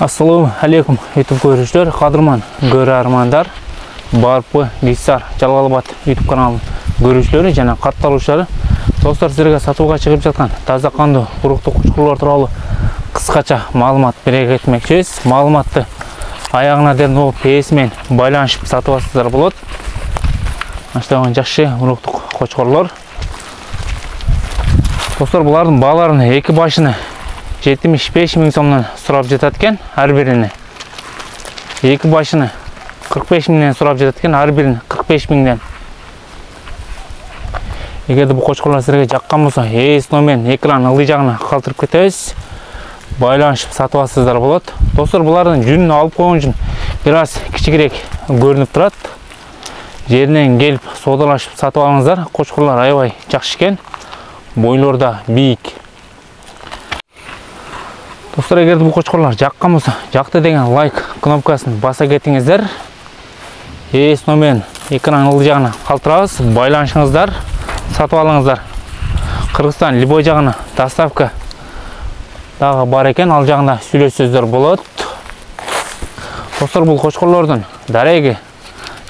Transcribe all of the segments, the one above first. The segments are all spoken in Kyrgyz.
Assalamu alaikum YouTube көрүүчүлөр, кадырман көрөрмандар, Барпы Бисар Жалал-Абад YouTube каналынын көрүүчүлөрү жана катталуучулары. Достор, силерге сатууга чыгып жаткан таза кандуу уруктук кучкурлар тууралуу кыскача маалымат бере кетмекчибиз. Маалыматты аягына дейин PS менен байланышып сатып алсаңыздар болот. Аштаган жакшы уруктук кучкурлар. Достор, булардын бааларын эки башыны 75 миң сомдон сурап жатат экен, ар бирини. Эки башыны 45 миңден сурап жатат экен, ар бирини 45 миңден. Эгерде бул кочкурлар силерге жаккан болсо, эс номерин экран ылдый жагына калтырып кетебиз. Байланышып сатып алсаңыздар болот. Достор, булардын жүнүн алып койгон үчүн бир аз кичигирээк көрүнүп турат. Жеринен келип соодалашып сатып алыңыздар. Кочкурлар аябай жакшы экен. Бойлору да бийик. Достор, эгерде бул кочкурлар жаккан болсо, жакты деген лайк кнопкасын баса кетиңиздер. Эс номерин экран ылдый жагына калтырабыз. Байланышыңыздар, сатып алыңыздар. Кыргызстан любой жагына доставка дагы бар экен, ал жагында сүйлөшсөздөр болот. Достор, бул кочкурлордун дареги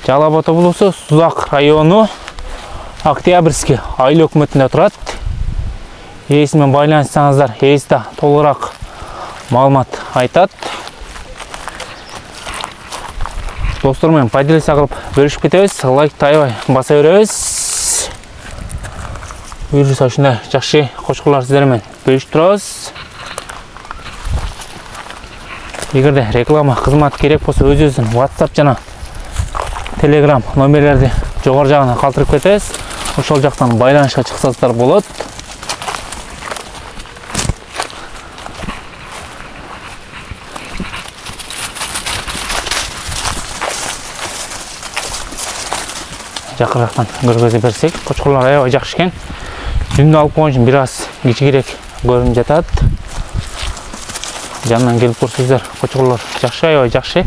Жалал-Абад облусу, Сузак району, Октябрьский айыл өкмөтүндө турат. Эс менен байланышсаңыздар, эс да толугураак маалымат айтат. Достор менен поделиться кылып бөлүшүп кетебиз. Лайкты аябай баса беребиз. Буюрса ушундай жакшы кочкурлар сиздер менен бөлүшүп турабыз. Эгерде реклама кызмат керек болсо, өзүбүздүн WhatsApp жана Telegram номерлерди жогору жагына калтырып кетебиз. Ошол жактан байланышка чыксаңыздар болот. Жакырактан көргөзүп берсек, кочкурлар аябай жакшы экен. Жүнүн алып койгон үчүн бир аз кичигирээк көрүнүп жатат. Жанынан келип көрсөңүздөр, кочкурлар жакшы, аябай жакшы.